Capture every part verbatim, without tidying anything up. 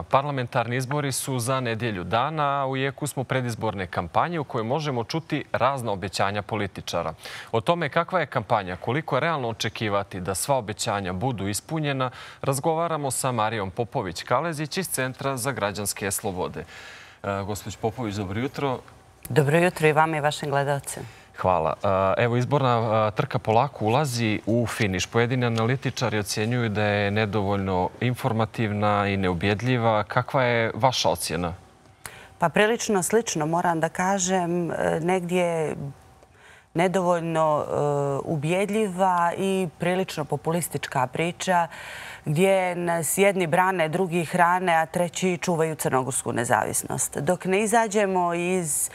Parlamentarni izbori su za nedjelju dana, a u jeku smo predizborne kampanje u kojoj možemo čuti razna obećanja političara. O tome kakva je kampanja, koliko je realno očekivati da sva obećanja budu ispunjena, razgovaramo sa Marijom Popović-Kalezić iz Centra za građanske slobode. Gospođo Popović, dobro jutro. Dobro jutro i vama i vašim gledalcima. Hvala. Evo, izborna trka polako ulazi u finiš. Pojedini analitičari ocjenjuju da je nedovoljno informativna i neubjedljiva. Kakva je vaša ocjena? Pa prilično slično, moram da kažem, negdje nedovoljno ubjedljiva i prilično populistička priča gdje nas jedni brane, drugi hrane, a treći čuvaju crnogorsku nezavisnost. Dok ne izađemo iz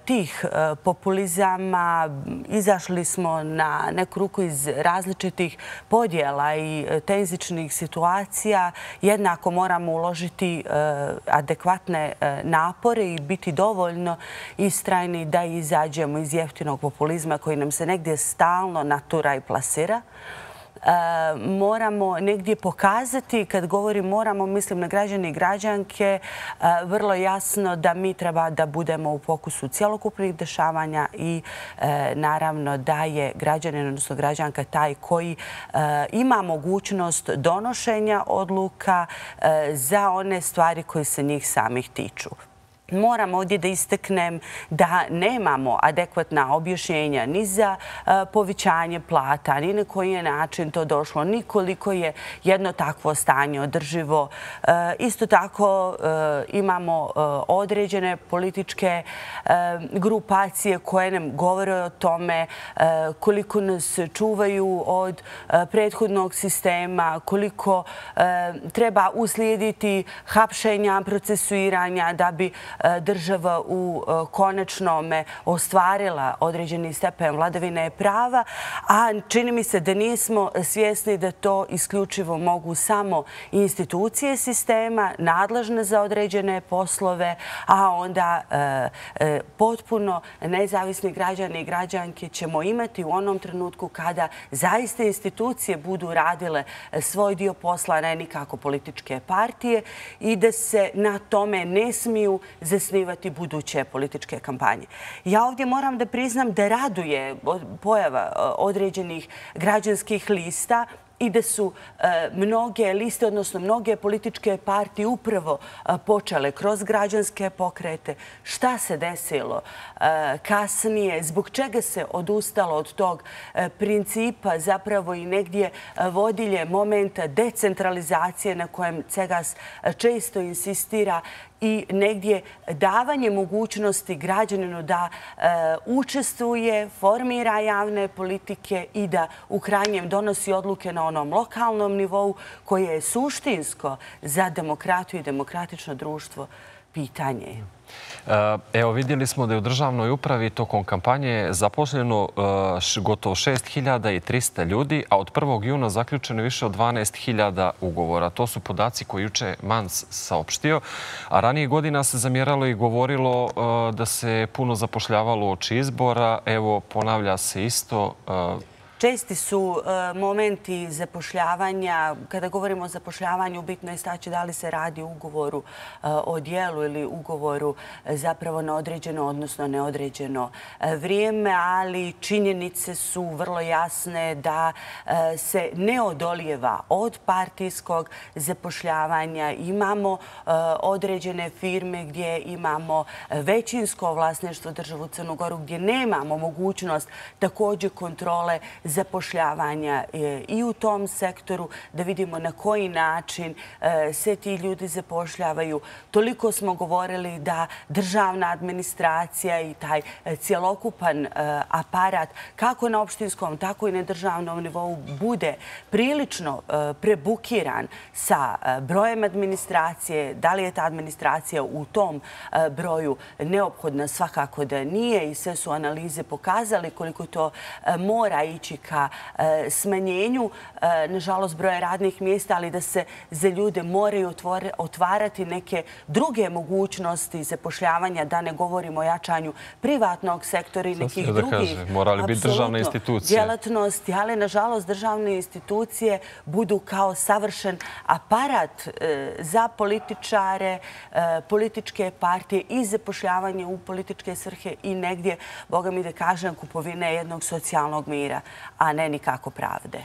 tih populizama, izašli smo na neku ruku iz različitih podjela i tenzičnih situacija. Jednako moramo uložiti adekvatne napore i biti dovoljno istrajni da izađemo iz jeftinog populizma koji nam se negdje stalno natura i plasira. Moramo negdje pokazati, kad govorim moramo, mislim na građane i građanke, vrlo jasno da mi treba da budemo u fokusu cjelokupnih dešavanja i naravno da je građanin, odnosno građanka, taj koji ima mogućnost donošenja odluka za one stvari koje se njih samih tiču. Moram ovdje da istaknem da nemamo adekvatna objašnjenja ni za povećanje plata, ni na koji je način to došlo, ni koliko je jedno takvo stanje održivo. Isto tako imamo određene političke grupacije koje nam govore o tome koliko nas čuvaju od prethodnog sistema, koliko treba uslijediti hapšenja, procesuiranja da bi država u konačnome ostvarila određeni stepen vladavine prava, a čini mi se da nismo svjesni da to isključivo mogu samo institucije sistema, nadležne za određene poslove, a onda potpuno nezavisni građani i građanke ćemo imati u onom trenutku kada zaista institucije budu radile svoj dio posla, ne nikako političke partije, i da se na tome ne smiju zasnivati buduće političke kampanje. Ja ovdje moram da priznam da raduje pojava određenih građanskih lista i da su mnoge liste, odnosno mnoge političke partije upravo počele kroz građanske pokrete. Šta se desilo kasnije? Zbog čega se odustalo od tog principa, zapravo i negdje vodilje momenta decentralizacije na kojem Cegas često insistira i negdje davanje mogućnosti građaninu da učestvuje, formira javne politike i da u krajnjem donosi odluke na onom lokalnom nivou koje je suštinsko za demokratiju i demokratično društvo pitanje. Evo, vidjeli smo da je u državnoj upravi tokom kampanje zaposleno gotovo šest hiljada trista ljudi, a od prvog juna zaključeno je više od dvanaest hiljada ugovora. To su podaci koje juče Mans saopštio, a ranije godina se zamjeralo i govorilo da se puno zapošljavalo uoči izbora. Evo, ponavlja se isto. Česti su momenti zapošljavanja. Kada govorimo o zapošljavanju, bitno je istaći da li se radi o ugovoru o djelu ili ugovoru zapravo na određeno, odnosno neodređeno vrijeme, ali činjenice su vrlo jasne da se ne odolijeva od partijskog zapošljavanja. Imamo određene firme gdje imamo većinsko vlasništvo državu Crnu Goru, gdje nemamo mogućnost također kontrole zapošljavanja i u tom sektoru, da vidimo na koji način se ti ljudi zapošljavaju. Toliko smo govorili da državna administracija i taj cjelokupan aparat, kako na opštinskom, tako i na državnom nivou, bude prilično prebukiran sa brojem administracije. Da li je ta administracija u tom broju neophodna? Svakako da nije, i sve su analize pokazali koliko to mora ići ka smanjenju, nažalost, broja radnih mjesta, ali da se za ljude moraju otvarati neke druge mogućnosti zapošljavanja, da ne govorimo o jačanju privatnog sektora i nekih drugih morali biti državne institucije. Djelatnosti, ali nažalost državne institucije budu kao savršen aparat za političare, političke partije i zapošljavanje u političke svrhe i negdje, boga mi da kažem, kupovine jednog socijalnog mira, a ne nikako pravde.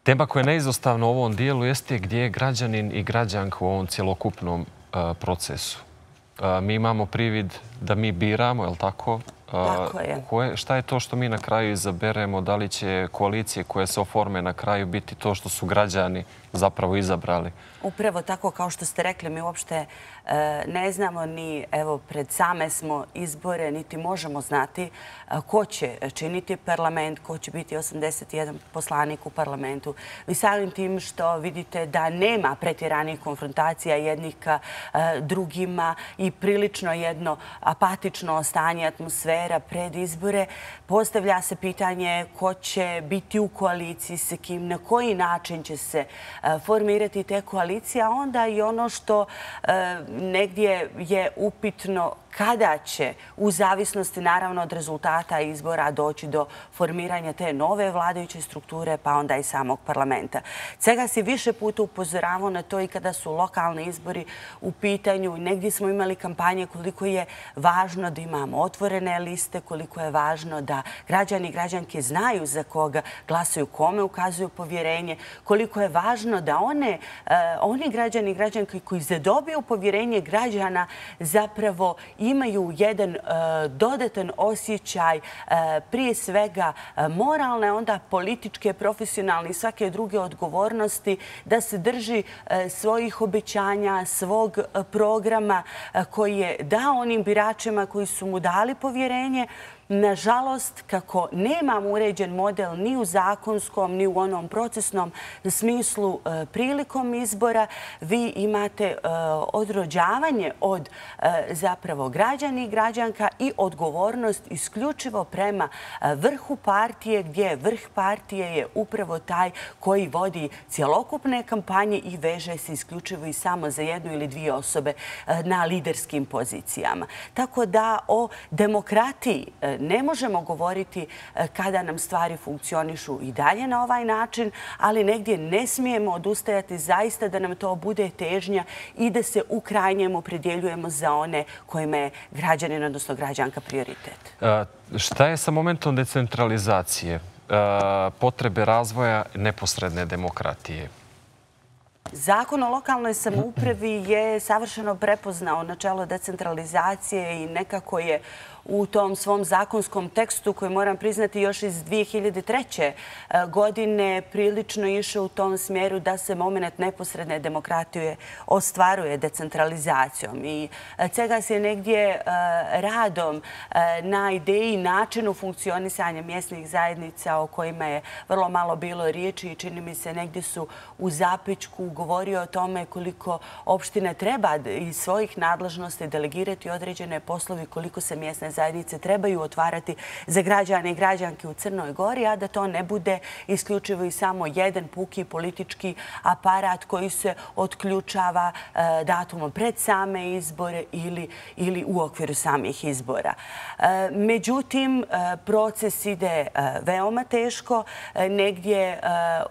Tema koja je neizostavna u ovom dijelu jeste gdje je građanin i građanka u ovom cjelokupnom procesu. Mi imamo privid da mi biramo, je li tako? Tako je. Šta je to što mi na kraju izaberemo? Da li će koalicije koje se oforme na kraju biti to što su građani zapravo izabrali? Upravo tako kao što ste rekli, mi uopšte ne znamo ni, evo, pred same smo izbore, niti možemo znati ko će činiti parlament, ko će biti osamdeset jedan poslanik u parlamentu. Vi samim tim što vidite da nema pretjeranih konfrontacija jednih ka drugima i prilično jedno apatično stanje atmosfera pred izbore, postavlja se pitanje ko će biti u koaliciji sa kim, na koji način će se formirati te koalicije, a onda i ono što negdje je upitno kada će, u zavisnosti naravno od rezultata izbora, doći do formiranja te nove vladajuće strukture, pa onda i samog parlamenta. Cega si više puta upozoravao na to i kada su lokalni izbori u pitanju. Negdje smo imali kampanje koliko je važno da imamo otvorene liste, koliko je važno da građani i građanke znaju za koga glasaju, kome ukazuju povjerenje, koliko je važno da one, oni građani i građanke koji zadobiju povjerenje građana zapravo imaju jedan dodatan osjećaj prije svega moralne, onda političke, profesionalne i svake druge odgovornosti da se drži svojih obećanja, svog programa koji je dao onim biračima koji su mu dali povjerenje. Nažalost, kako nemamo uređen model ni u zakonskom, ni u onom procesnom smislu prilikom izbora, vi imate odrođavanje od zapravo građana i građanka i odgovornost isključivo prema vrhu partije, gdje vrh partije je upravo taj koji vodi cjelokupne kampanje i veže se isključivo i samo za jednu ili dvije osobe na liderskim pozicijama. Tako da o demokratiji ne možemo govoriti kada nam stvari funkcionišu i dalje na ovaj način, ali negdje ne smijemo odustajati zaista da nam to bude težnja i da se u krajnjem opredjeljujemo za one kojima je građanin, odnosno građanka, prioritet. Šta je sa momentom decentralizacije, potrebe razvoja neposredne demokratije? Zakon o lokalnoj samoupravi je savršeno prepoznao načelo decentralizacije i nekako je u tom svom zakonskom tekstu, koji moram priznati još iz dvije hiljade treće. godine, prilično išao u tom smjeru da se moment neposredne demokratije ostvaruje decentralizacijom. I cega se negdje radom na ideji i načinu funkcionisanja mjesnih zajednica o kojima je vrlo malo bilo riječi i čini mi se negdje su u zapećku govorio o tome koliko opština treba iz svojih nadležnosti delegirati određene poslovi, koliko se mjesne zajednice trebaju otvarati za građane i građanke u Crnoj Gori, a da to ne bude isključivo i samo jedan puki politički aparat koji se otključava datumom pred same izbore ili u okviru samih izbora. Međutim, proces ide veoma teško. Negdje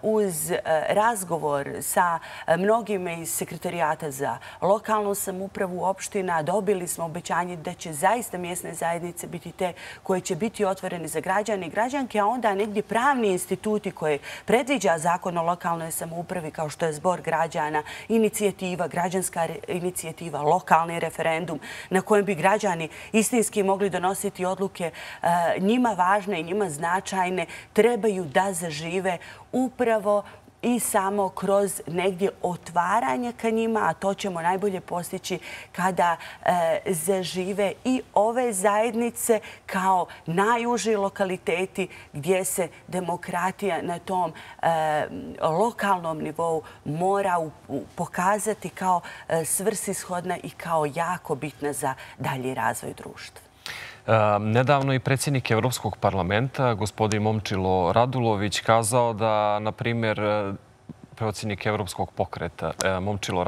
uz razgovor sa mnogima iz Sekretarijata za lokalnu samoupravu opština dobili smo obećanje da će zaista mjesne zajednice biti te koje će biti otvorene za građane i građanke, a onda negdje pravni instituti koje predviđa Zakon o lokalnoj samoupravi, kao što je zbor građana, inicijativa, građanska inicijativa, lokalni referendum na kojem bi građani istinski mogli donositi odluke njima važne i njima značajne, trebaju da zažive upravo i samo kroz negdje otvaranje ka njima, a to ćemo najbolje postići kada zažive i ove zajednice kao najuži lokaliteti gdje se demokratija na tom lokalnom nivou mora pokazati kao svrsishodna i kao jako bitna za dalji razvoj društva. Nedavno i predsjednik Evropskog parlamenta, gospodin Momčilo Radulović, kazao da, na primjer, predsjednik Evropskog pokreta Momčilo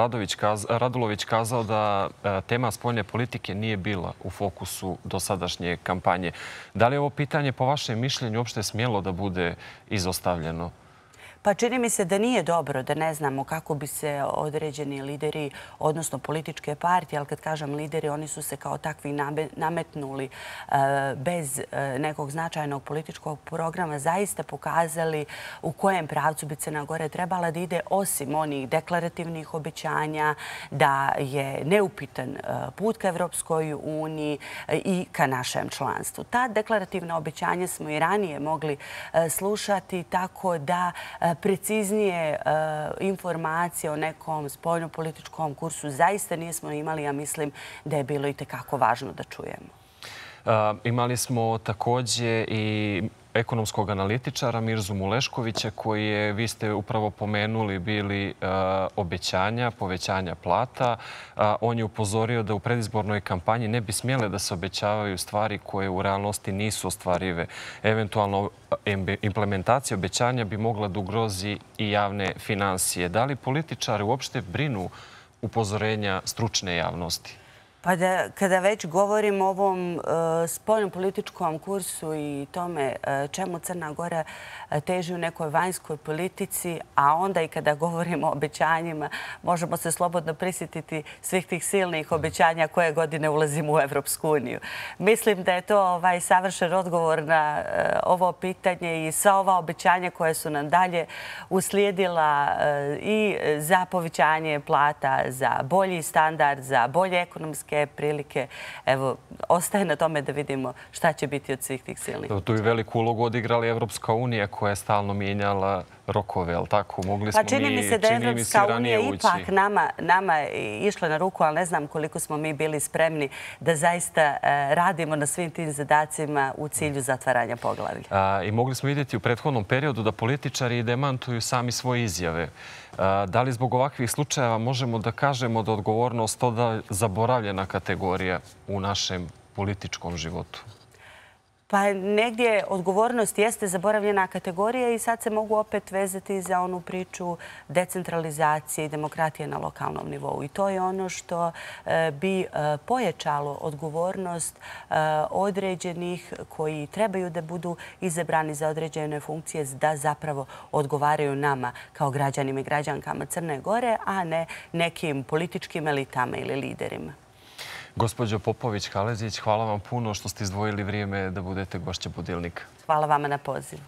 Radulović kazao da tema spoljne politike nije bila u fokusu dosadašnje kampanje. Da li je ovo pitanje, po vašem mišljenju, uopšte smjelo da bude izostavljeno? Pa čini mi se da nije dobro, da ne znamo kako bi se određeni lideri, odnosno političke partije, ali kad kažem lideri, oni su se kao takvi nametnuli bez nekog značajnog političkog programa, zaista pokazali u kojem pravcu bi Crna Gora trebala da ide, osim onih deklarativnih obećanja, da je neupitan put ka Evropskoj uniji i ka našem članstvu. Ta deklarativna obećanja smo i ranije mogli slušati, tako da preciznije informacije o nekom spoljnopolitičkom kursu zaista nismo imali, ja mislim da je bilo i tekako važno da čujemo. Imali smo također i ekonomskog analitičara Mirzu Muleškovića koji je, vi ste upravo pomenuli, bili obećanja, povećanja plata. On je upozorio da u predizbornoj kampanji ne bi smjele da se obećavaju stvari koje u realnosti nisu ostvarive. Eventualno implementacija obećanja bi mogla da ugrozi i javne finansije. Da li političari uopšte brinu upozorenja stručne javnosti? Pa da, kada već govorim o ovom spoljnom političkom kursu i tome čemu Crna Gora teži u nekoj vanjskoj politici, a onda i kada govorimo o obećanjima, možemo se slobodno prisjetiti svih tih silnih obećanja koje godine ulazimo u Evropsku uniju. Mislim da je to ovaj savršen odgovor na ovo pitanje i sva ova obećanja koje su nam dalje uslijedila i za povećanje plata, za bolji standard, za bolje ekonomske prilike. Evo, ostaje na tome da vidimo šta će biti od svih tih silnih. Tu je veliku ulogu odigrala Evropska unija koja je stalno mijenjala rokove, ali tako? Mogli smo mi, čini mi se da je Evropska unija ipak nama išla na ruku, ali ne znam koliko smo mi bili spremni da zaista radimo na svim tim zadacima u cilju zatvaranja poglavlja. I mogli smo vidjeti u prethodnom periodu da političari demantuju sami svoje izjave. Da li zbog ovakvih slučajeva možemo da kažemo da odgovornost je zaboravljena kategorija u našem političkom životu? Pa negdje odgovornost jeste zaboravljena kategorija i sad se mogu opet vezati za onu priču decentralizacije i demokratije na lokalnom nivou. I to je ono što bi pojačalo odgovornost određenih koji trebaju da budu izabrani za određene funkcije, da zapravo odgovaraju nama kao građanima i građankama Crne Gore, a ne nekim političkim elitama ili liderima. Gospođo Popović-Kalezić, hvala vam puno što ste izdvojili vrijeme da budete gošća Budilnika. Hvala vama na pozivu.